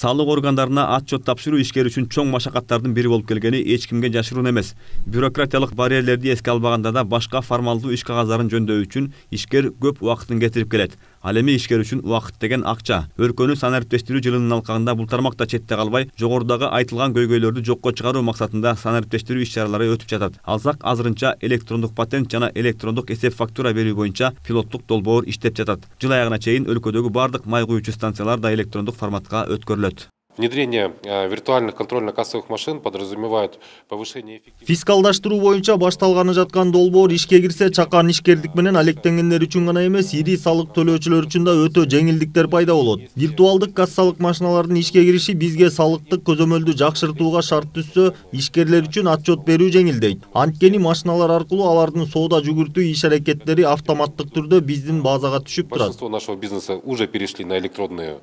Салык органдарына отчет тапшыруу ишкер үчүн чоң машакаттардын бири болуп келгени эч кимге жашыруун эмес. Бюрократиялык барьерлерди эске албаганда да башка формалдуу иш кагаздарын жөндөй үчүн ишкер көп убактын кетирип келет. Ал эми ишкер үчүн убакыт деген акча. Өлкөнү санариптештирүү жылынын алкагында бул тармакта четте калбай, жогорудагы айтылган көйгөйлөрдү жокко чыгаруу максатында санариптештирүү иш-чаралары өтүп жатат. Алсак азырынча электрондук патент жана электрондук эсеп фактура берүү боюнча пилоттук долбоор иштеп жатат. Жыл аягына чейин өлкөдөгү бардык май куючу станциялар да электрондук форматка өткөрүлөт. Внедрение виртуальных контрольно-кассовых машин подразумевает повышение эффективности. Фискалдаштыруу боюнча башталганы жаткан долбоор ишке кирсе, чакан ишкерлик менен алектенгендер үчүн гана эмес, ири салык төлөөчүлөр үчүн да өтө жеңилдиктер пайда болот. Виртуалдык кассалык машиналардын ишке кириши бизге салыктык көзөмөлдү жакшыртууга шарт түзсө, ишкерлер үчүн отчет берүү жеңилдейт. Анткени машиналар аркылуу алардын соода жүгүртүү иш-аракеттери автоматтык түрдө биздин базага түшүп турат. Большинство нашего бизнеса уже перешли на электронную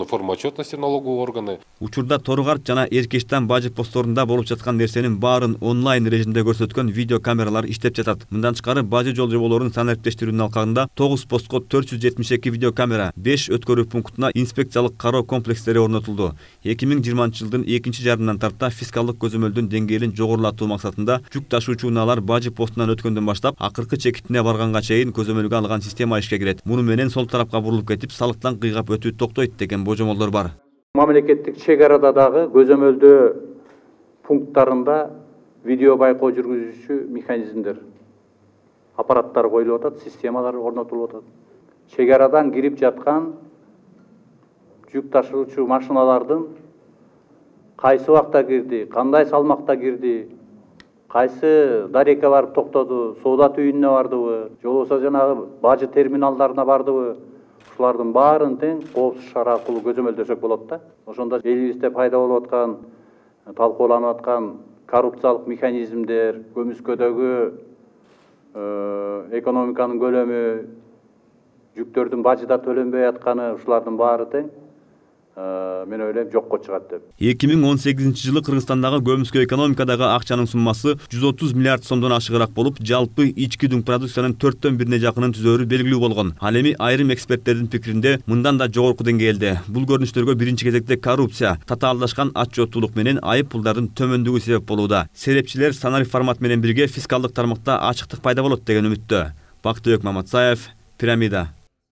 форму отчетности налогового органы. Учурда Торгарт жана Эркештан бажы постторунда болуп жаткан нерсенин баарын онлайн режимде көрсөткөн видео камералар иштеп жатат. Мындан тышкары бажы жол жоболорун санариптештирүүнүн алкагында 9 постко 472 видео камера, 5 өткөрүү пунктуна инспекциялык кароо комплекстери орнотулду. 2020 жылдын экинчи жарымынан тарта фискалдык көзөмөлдүн деңгээлин жогорулатуу максатында жүк ташуучу унаалар бажы постунан өткөндөн баштап акыркы чекитине барганга чейин көзөмөлгө алган система ишке кирет. Муну менен сол тарапка бурулуп кетип, салыктан кыйгап өтүү токтойт деген божомолдор бар. Мамлекеттик чек арада дагы көзөмөлдөө пункттарында видео байкоо жүргүзүүчү механизмдер, аппараттар коюлуп атат, системалар орнотулуп атат. Чек арадан кирип жаткан жүк ташуучу машиналардын кайсы убакта кирди, кандай салмакта кирди, кайсы дарекке барып токтоду, соода түйүнүнө бардыбы, же болбосо жанагы бажы терминалдарына бардыбы, ушулардын баарын тең коопсуз шара аркылуу көзөмөлдөсөк болот да. Ошондо элибизде пайда болуп аткан, талкууланып аткан коррупциялык механизмдер, көмүскөдөгү экономиканын көлөмү, жүктөрдүн бажыда төлөнбөй атканы, ушулардын баары тең мен ойлойм жокко чыгат деп. 2018 жылы Кыргызстандагы көмүскө экономикадагы акчанын суммасы 130 миллиард сомдон ашыгыраак болуп, жалпы ички дүң продукциянын 4/1 жакынын түзөөрү белгилүү болгон. Ал эми айрым эксперттердин пикиринде мындан да жогорку деңгээлде. Бул көрүнүштөргө биринчи кезекте коррупция, татаалдашкан отчеттуулук менен айып пулдардын төмөндүгү себеп болууда. Серепчилер санари формат менен бирге фискалдык тармакта ачыктык пайда болот деген үмүттө. Бактыбек Маматсаев, Пирамида.